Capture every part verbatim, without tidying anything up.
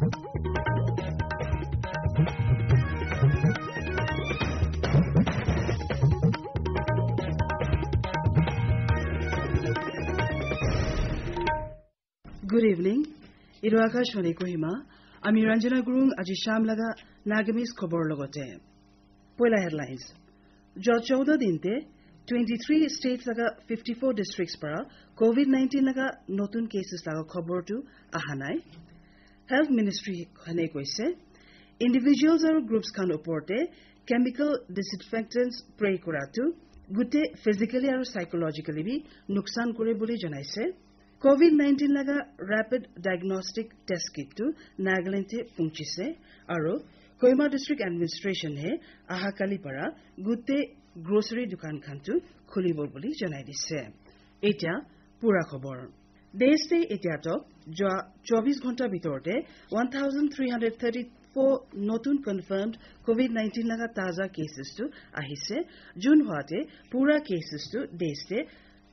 Good evening. Etu Akashvani Kohima. Ami Ranjana Gurung, aji sham laga Nagamese khobor logote. Poila headlines. Jua chowda din te twenty three states laga fifty four districts para covid nineteen laga notun cases laga khobor tu aha nai. Health Ministry khane koise, individuals aru groups khan opor te chemical disinfectants spray kura tu gute physically aru psychologically bi nuksan kore buli janaise. Covid nineteen laga rapid diagnostic test kit tu Nagaland te punchise, aru Kohima District Administration he aha kali para gute grocery dukan khan tu khulibo buli janai dise. Etia pura khobor. Desh te etia tok jua chobis ghonta bitor te one thousand three hundred thirty four notun confirmed covid nineteen laga taza cases tu ahise. Jun hua te pura cases tu desh te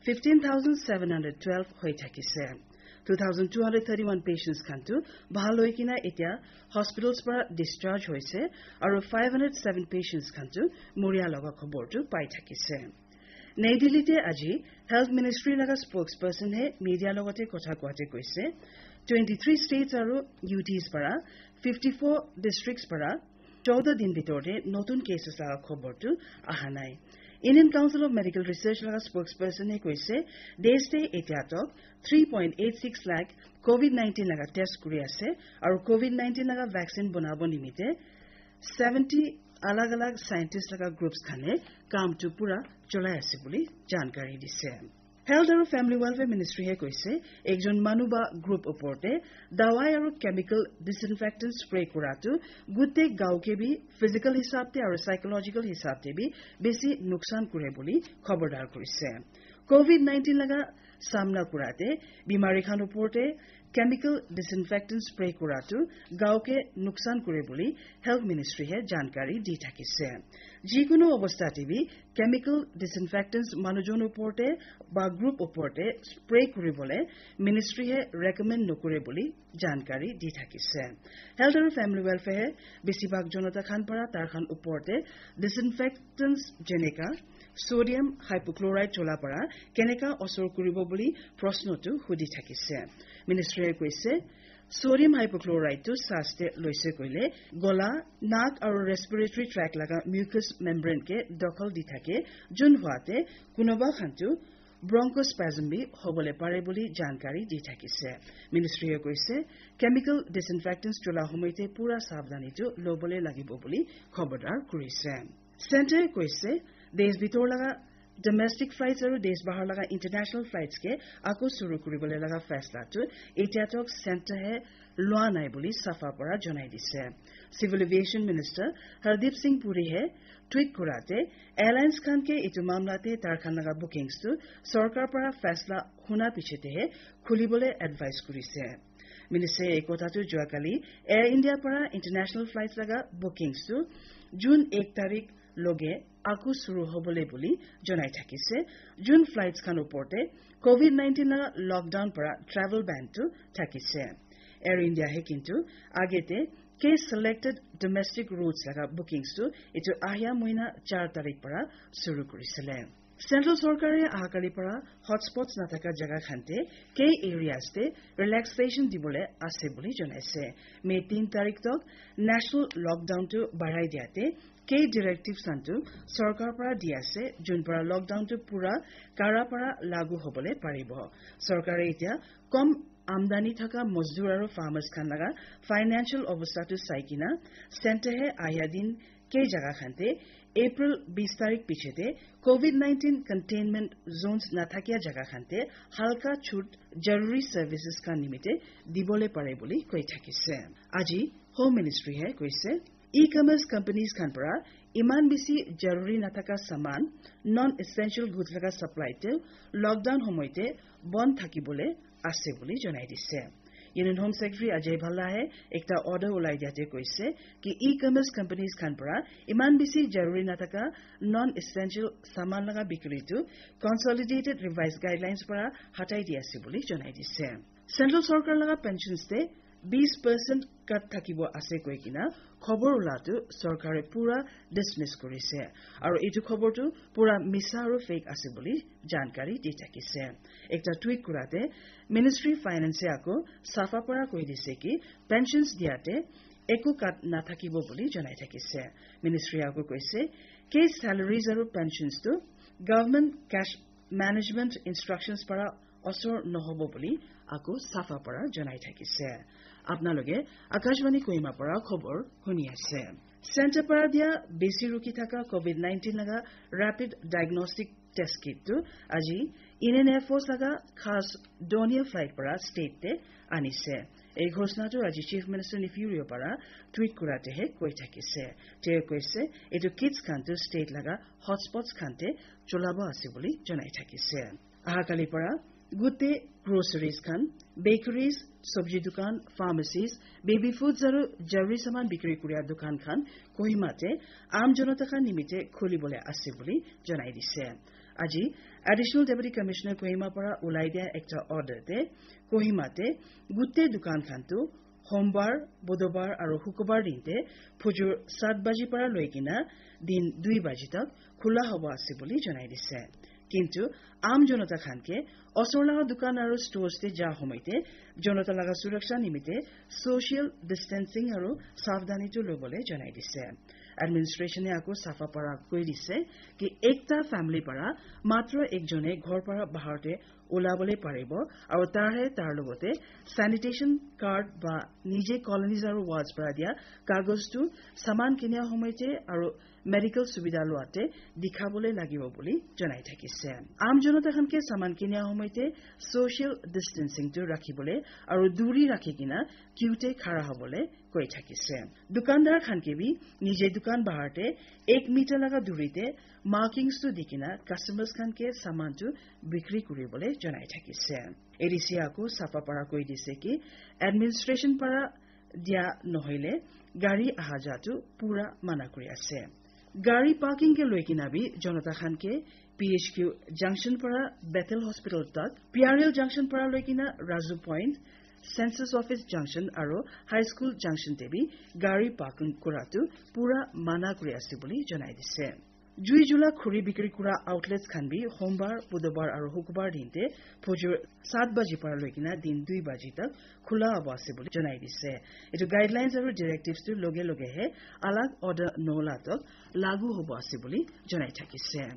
fifteen thousand seven hundred twelve hoi thakise. Two thousand two hundred thirty one patients khan tu bhal hoi kina etia hospitals para discharge hoise, aru five hundred seven patients khan tu moria laga khobor tu pai thakise. Nai Delhi te aji Health Ministry laga spokesperson he media logote kotha koate koise, twenty three states aru U Ts para fifty four districts para chowda din bitor te notun cases laga khobor tu aha nai. Indian Council of Medical Research laga spokesperson he koise, desh te etia tok three point eight six lakh covid nineteen laga test kuri ase, aru covid nineteen laga vaccine bonabo nimite seventy alag alag scientist laga groups khane kam tu pura cholai ase buli jankari dise. Health aru Family Welfare Ministry he koise, ekjon manu ba group opor te dawai aru chemical disinfectant spray kura tu gute gaon ke bi physical hisab te aru psychological hisab te bi besi nuksan kure buli khobordar korise. Covid nineteen laga samna kura te bimari khan opor te chemical disinfectant spray kura tu gaon ke nuksan kure buli Health Ministry he jankari di thakise. Jikunu obostha te bi chemical disinfectants manujon opor te ba group opor te spray kuribole ministry he recommend nokure buli jankari di thakise. Health aru Family Welfare he besibhag jonota khan para tar khan opor te disinfectants jeneka sodium hypochlorite chola para keneka osor kuribo buli proshno tu hudi thakise. Ministry he koise, sodium hypochlorite tu saas te loise koile gola, nak aru respiratory tract laga mucous membrane ke dokhol di thake, jun hua te kunoba khan tu bronchospasm bi hobole pare buli jankari di thakise. Ministry he koise, chemical disinfectants chola homoite pura savdani tu lobole lagibo buli khobordar kurise. Center koise, desh bitor laga domestic flights aru desh bahar laga international flights ke ako suru kuribole laga faisla tu etia tok center he lua nai buli safa para janai dise. Civil Aviation Minister Hardeep Singh Puri he tweet kurate airlines khan ke etu mamla te tar khan laga bookings tu sorkar para faisla huna piche te he khulibole advice kurise. Minister ye kotha tu juakali Air India para international flights laga bookings tu June ek tarik loge aku suru hobole buli janai thakise. June flights khan opor te covid nineteen laga lockdown para travel ban tu thakise. Air India he kintu age te ke selected domestic routes laga bookings tu etu ahya muina char tarik para suru kurisile. Central sorkare ahakali para hotspots nathaka jaga khan te kei areas te relaxation dibole ase buli janaise. May tin tarik tok national lockdown tu barai diate kei directives khan tu sorkar para di ase, jun para lockdown tu pura kara para lagu hobole paribo. Sorkare etia kom amdani thaka mojdur aru farmers khan laga financial obostha tu sai kina center he ahya din kei jaga khan te April bis tarik piche te covid nineteen containment zones nathakia jaga khan te halka chut jaruri services khan nimite dibole pare buli koi thakise. Aji Home Ministry he koise, e-commerce companies khan para iman bisi jaruri nathaka saman, non essential goods laga supply te lockdown homoite bon thakibole ase buli janai dise. Union Home Secretary Ajay Bhalla he ekta order ulai diate koise ki e-commerce companies khan para iman bisi jaruri nathaka non essential saman laga bikri tu consolidated revised guidelines para hatai di ase buli janai dise. Central sorkar laga pensions te bish percent cut thakibo ase koi kina khobor ula tu sorkare pura dismiss kurise. Aru etu khobor tu pura misa aru fake ase buli jankari di thakise. Ekta tweet kurate Ministry Finance e ako safa para koi dise ki pensions diate eku cut na thakibo buli janai thakise. Ministry ako koise ki salaries aru pensions tu government cash management instructions para osor nohobo buli ako safa para janai thakise. Apnaloge Akashvani Kohima para khobor huni ase. Center para dia besi ruki thaka covid nineteen laga rapid diagnostic test kit tu aji Indian Air Force laga khas Dornier flight para state te anise. Ei ghosna tu aji Chief Minister Neiphiu Rio para tweet kurate he koi thakise. Te koise etu kits khan tu state laga hotspots khan te cholabo ase buli janai thakise. Aha kali para gute groceries khan, bakeries, sobji dukan, pharmacies, baby foods aru jewelry saman bikri kuria dukan khan Kohima te aam janata khan nimite khulibole ase buli janai dise. Aji Additional Deputy Commissioner Kohima para ulai dia ekta order te Kohima te gute dukan khan tu Hombar, Budobar aru Hukubar din te phujur sat baji para loi kina din dui baji tak khula hobo ase buli janai dise. Kintu aam janata khan ke osor laga dukan aru stores te ja homoi te janata laga suraksha nimite social distancing aru savdhani tu lobole janai dise. Administration e ako safa para koi dise ki ekta family para matro ekjone ghor para bahar te ulabole paribo aru tar he tar logote sanitation card ba nije colonies aru wards para dia kagos tu saman kinia homoi te aru medical subidha loate dikhabole lagibo buli janai thakise. Aam janata khan ke saman kinia homoi te social distancing tu rakhibole aru duri rakhi kina queue te khara hobole koi thakise. Dukandar khan ke bi nije dukan bahar te ek meter laga duri te markings tu dikina customers khan ke saman tu bikri kuribole janai thakise. A D C ako safa para koi dise ki administration para dia nohoile gari aha ja tu pura mana kuri ase. Gari parking ke loi kina bi janata khan ke P H Q junction para Bethel Hospital tak, P R L junction para loi kina Raju Point, Census Office junction aru High School junction te bi gari parking kura tu pura mana kuri ase buli janai dise. Jui jula khuri bikri kura outlets khan bi Hombar, Budobar aru Hukubar din te phujur sat baji para loi kina din dui baji tak khula hobo ase buli janai dise. Etu guidelines aru directives tu loge loge he alag order nola tak lagu hobo ase buli janai thakise.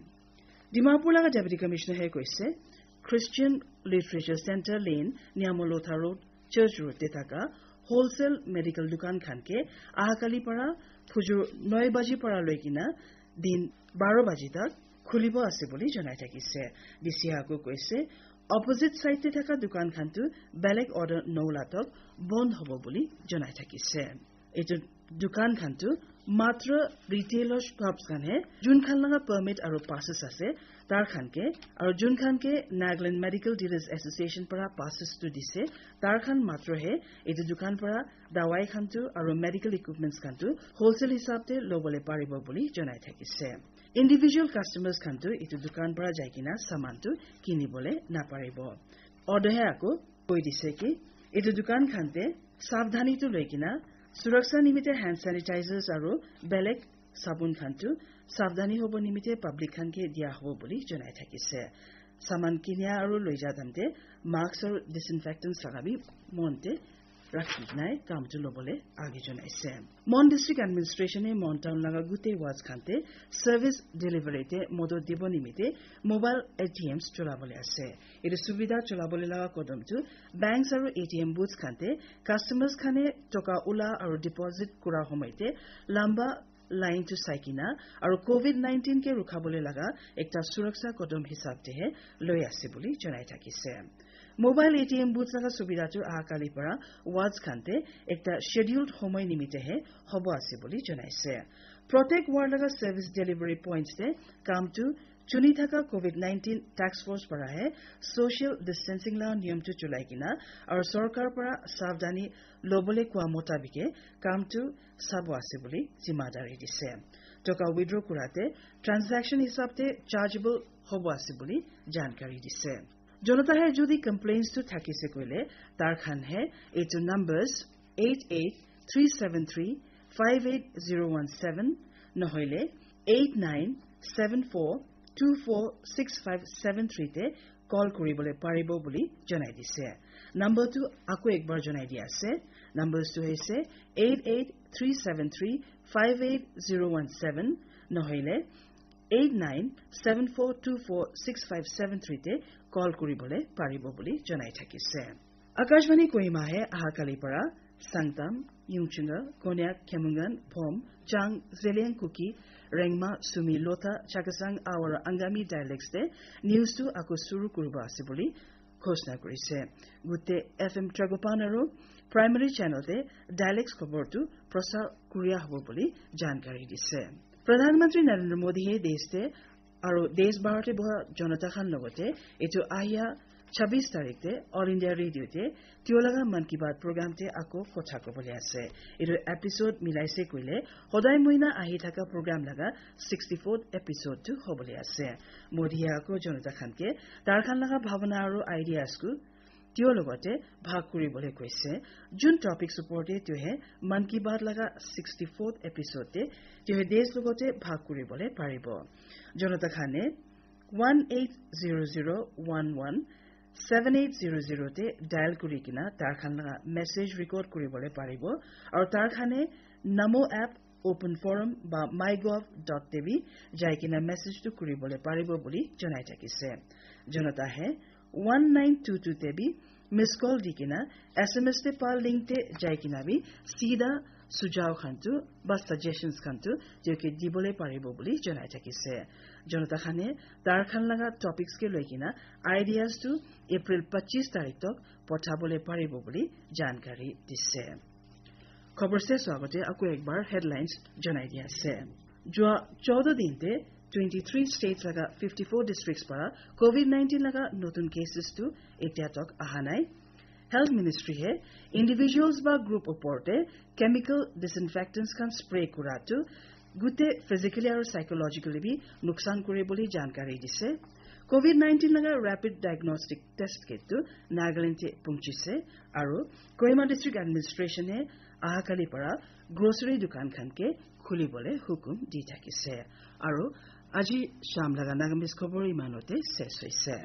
Dimapur laga Deputy Commissioner he koise, Christian Literature Center Lane, Niamolotha Road, Church Road te thaka wholesale medical dukan khan ke ahakali para phujur noi baji para loi kina din baro baji tak khulibo ase buli janai thakise. D C ako koise, opposite side te thaka dukan khan tu beleg order nola tak bond hobo buli janai thakise. Etu dukan khan tu matro retailer shops khan he, jun khan laga permit aru passes ase, tar khan ke, aru jun khan ke Nagaland Medical Dealers Association para passes tu dise, tar khan matro he etu dukan para dawai khan tu aru medical equipments khan tu wholesale hisab te lobole paribo buli janai thakise. Individual customers khan tu etu dukan para jai kina saman tu kinibole naparibo. Order he ako koi dise ki etu dukan khan te savdhani tu loi kina suraksha nimite hand sanitizers aru beleg sabun khan tu savdhani hobo nimite public khan ke dia hobo buli janai thakise. Saman kinia aru loi ja time te mask aru disinfectants laga bi mon te rakhi kinai kam tu lobole age janaise. Mon District Administration e Mon Town laga gute wards khan te service delivery te modot dibo nimite mobile A T Ms cholabole ase. Etu subidha cholabole laga kodom tu banks aru A T M booths khan te customers khan e toka ula aru deposit kura homoi te lamba line tu sai kina aru covid nineteen ke rukhabole laga ekta suraksha kodom hisab te he loi ase buli janai thakise. Mobile A T M booth laga subidha tu aha kali para wards khan te ekta scheduled homoi nimite he hobo ase buli janaise. Protek ward laga service delivery points te kam tu chuni thaka covid nineteen task force para he social distancing la niyam tu cholai kina aru sorkar para savdhani lobole kua mutabike kam tu sabo ase buli zimadari dise. Toka withdraw kurate transaction hisab te chargeable hobo ase buli jankari dise. Jonata he jodi complaints tu thakise koile tar khan he etu numbers eight eight three seven three five eight zero one seven, nohoile eight nine seven four two four six five seven three te call kuribole paribo buli janai dise. Number tu ako ekbar janai di ase. Numbers tu hoise eight eight three seven three five eight zero one seven, nohoile eight nine seven four two four six five seven three te call kuribole paribo buli janai thakise. Akashvani Kohima he aha kali para Sangtam, Yungchunga, Konyak, Kemungan, Phom, Chang, Zeliang, Kuki, Rengma, Sumi, Lotha, Chakhesang, Ao aru Angami dialects te news tu ako suru kuribo ase buli ghosna kurise. Gute F M Tragopan aru primary channel te dialects khobor tu prasar kuria hobo buli jankari dise. Pradhan Mantri Narendra Modi he desh te aru desh bahar te boha janata khan logote etu ahia chabbish tarik te All India Radio te tio laga Mann Ki Baat program te ako kotha kobole ase. Etu episode milaise koile hodai moina ahi thaka program laga sixty-fourth episode tu hobole ase. Modi he ako janata khan ke tar khan laga bhavana aru ideas ku tio logote bhag kuribole koise. Jun topics upor te tio he Mann Ki Baat laga sixty-fourth episode te tio he desh logote bhag kuribole paribo. Janata khane one eight zero zero one one seven eight zero zero te dial kuri kina tar khan laga message record kuribole paribo. Aru tar khane Namo app, Open Forum ba mygov dot te bi jai kina message tu kuribole paribo buli janai thakise. Janata he one nine two two te bi miss call di kina S M S te pa link te jai kina bi sida sujao khan tu ba suggestions khan tu tio ke dibole paribo buli janai thakise. Janata khane tar khan laga topics ke loi kina ideas tu April pachis tarik tok pothabole paribo buli jankari dise. Khobor ses howa agote ako ekbar headlines janai di ase. Jua choudo din te twenty-three states laga fifty-four districts para covid nineteen laga notun cases tu etia tok aha nai. Health Ministry he individuals ba group upor te chemical disinfectants khan spray kura tu gute physically aru psychologically bi nuksan kure buli jankari dise. Covid nineteen laga rapid diagnostic test kit tu Nagaland te punchise aru Kohima District Administration he aha kali para grocery dukan khan ke khulibole hukum di thakise. Aru aji sham laga Nagamese khobor imanote ses hoise.